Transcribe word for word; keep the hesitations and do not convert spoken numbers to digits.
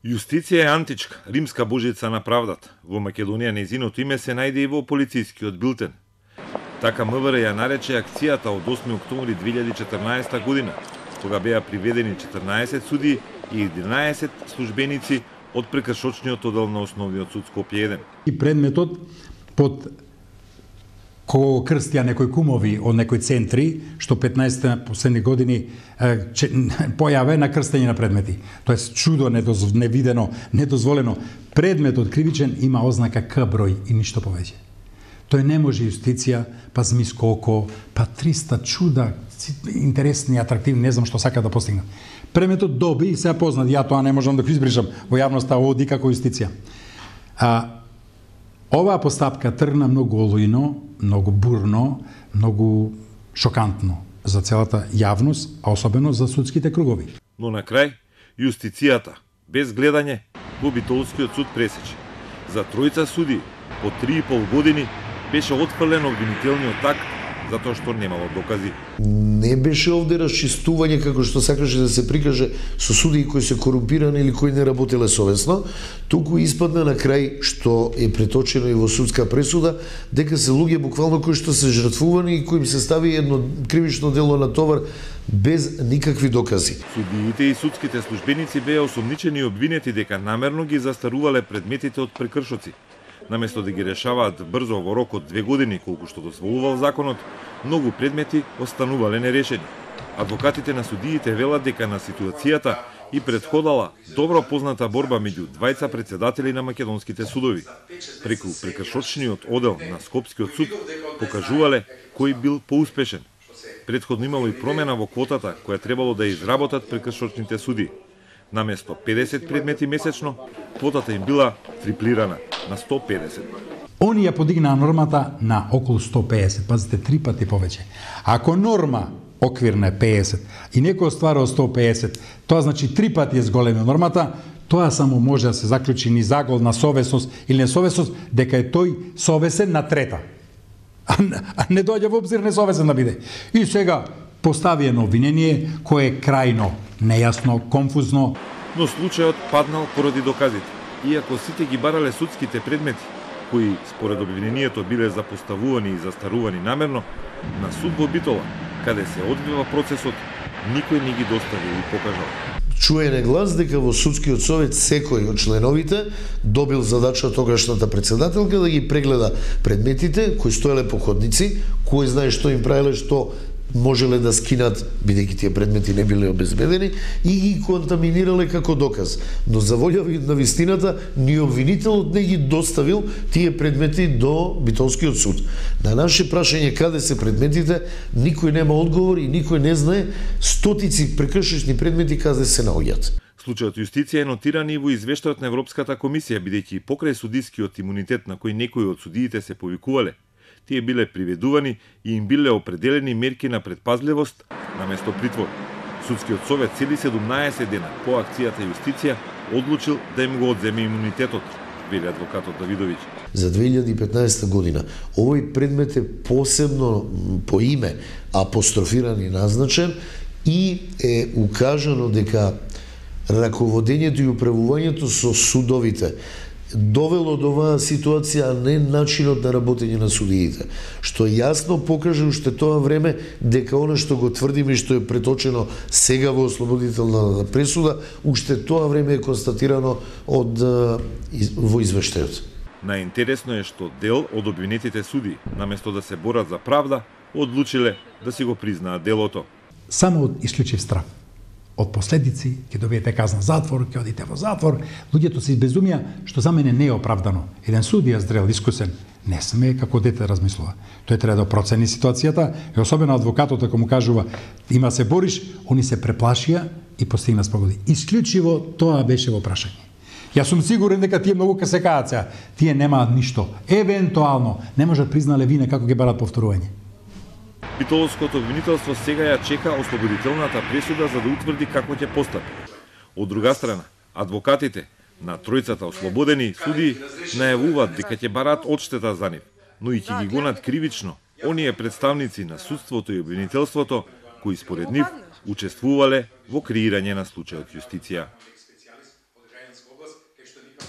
Јустиција е античка, римска божица на правдата. Во Македонија нејзиното име се најде и во полицискиот билтен. Така МВР ја нарече акцијата од осми октомври две илјади и четрнаесетта година, кога беа приведени четрнаесет суди и единаесет службеници од прекршочниот оддел на Основниот суд Скопје еден. И предметот под кога крстија некои кумови од некои центри, што петнаесетте последни години че, појава на крстење на предмети. Тоест чудо недоз, невидено, недозволено. Предметот кривичен има ознака К број и ништо повеќе. Тој не може јустиција, па змиско око, па триста чуда, интересни, атрактивни, не знам што сака да постигнат. Предметот доби и се познат, ја тоа не можам да го избришам, во јавноста оди како јустиција. А оваа постапка тргна многу олујно, многу бурно, многу шокантно за целата јавност, а особено за судските кругови. Но на крај, јустицијата, без гледање, во Битолскиот суд пресече. За тројца суди по три и пол години беше отфрлен обвинителниот акт затоа што немало докази. Не беше овде расчистување како што сакаше да се прикаже со судии кои се корумпирани или кои не работеле совесно, туку испадна на крај што е преточено и во судска пресуда дека се луѓе буквално кои што се жртвувани и кои им се стави едно кривично дело на товар без никакви докази. Судиите и судските службеници беа осомничени и обвинети дека намерно ги застарувале предметите од прекршоци. Наместо да ги решаваат брзо во рок од две години, колку што дозволувал законот, многу предмети останувале нерешени. Адвокатите на судиите велат дека на ситуацијата и предходала добро позната борба меѓу двајца председатели на македонските судови. Преку прекршочниот одел на Скопскиот суд покажувале кој бил поуспешен. Предходно имало и промена во квотата која требало да изработат прекршочните суди. Наместо педесет предмети месечно, квотата им била триплирана на сто педесет. Они ја подигнаа нормата на околу сто педесет, пазите, три пати повеќе. Ако норма оквирна е педесет и некој остварува сто педесет, тоа значи три пати е зголемена нормата, тоа само може да се заклучи ни загол на совесност или несовесност, дека е тој совесен на трета. А не доаѓа во обзир несовесен да биде. И сега постави едно обвинение кое е крајно нејасно, конфузно. Но случајот паднал поради доказите. Иако сите ги барале судските предмети, кои според обвинението биле запоставувани и застарувани намерно, на суд во Битола, каде се одвива процесот, никој не ги доставил и покажал. Чуене глас дека во судскиот совет секој од членовите добил задача тогашната председателка да ги прегледа предметите кои стоеле по ходници, кој знае што им правеле, што можеле да скинат, бидејќи тие предмети не биле обезбедени, и ги контаминирале како доказ. Но за волја на вистината, ни обвинителот не ги доставил тие предмети до Битолскиот суд. На наше прашање каде се предметите, никој нема одговор и никој не знае стотици прекршечни предмети каде се наоѓаат. Случајот јустиција е нотиран и во извештајот на Европската комисија, бидејќи покрај судискиот имунитет на кој некои од судиите се повикувале, тие биле приведувани и им биле определени мерки на предпазливост наместо притвор. Судскиот совет цели седумнаесет дена по акцијата Јустиција одлучил да им го одземе имунитетот, вели адвокатот Давидовиќ. За две илјади и петнаесетта година овој предмет е посебно по име апострофиран и назначен и е укажано дека раководењето и управувањето со судовите довело до оваа ситуација, а не начинот на работење на судиите, што јасно покаже уште тоа време дека она што го тврдиме и што е преточено сега во ослободителна пресуда, уште тоа време е констатирано од во извештајот. Најинтересно е што дел од обвинетите суди, наместо да се борат за правда, одлучиле да си го признаат делото. Само од исклучив страв од последици, ќе добиете казна затвор, ќе одите во затвор, луѓето се избезумија, што за мене не е оправдано. Еден судија зрел, искусен, не сме како дете да размислува. Тој треба да процени ситуацијата и особено адвокатот ако му кажува има се бориш, они се преплашија и постигна спогоди. Исклучиво тоа беше во прашање. Јас сум сигурен дека тие многу ке се каат сега. Тие немаат ништо. Евентуално не можат признале вина како ќе барат повторување. Битолското обвинителство сега ја чека ослободителната пресуда за да утврди како ќе постапи. Од друга страна, адвокатите на тројцата ослободени суди најавуваат дека ќе бараат одштета за нив, но и ќе ги гонат кривично оние представници на судството и обвинителството кои според нив учествувале во креирање на случајот Јустиција. глас, кај што викам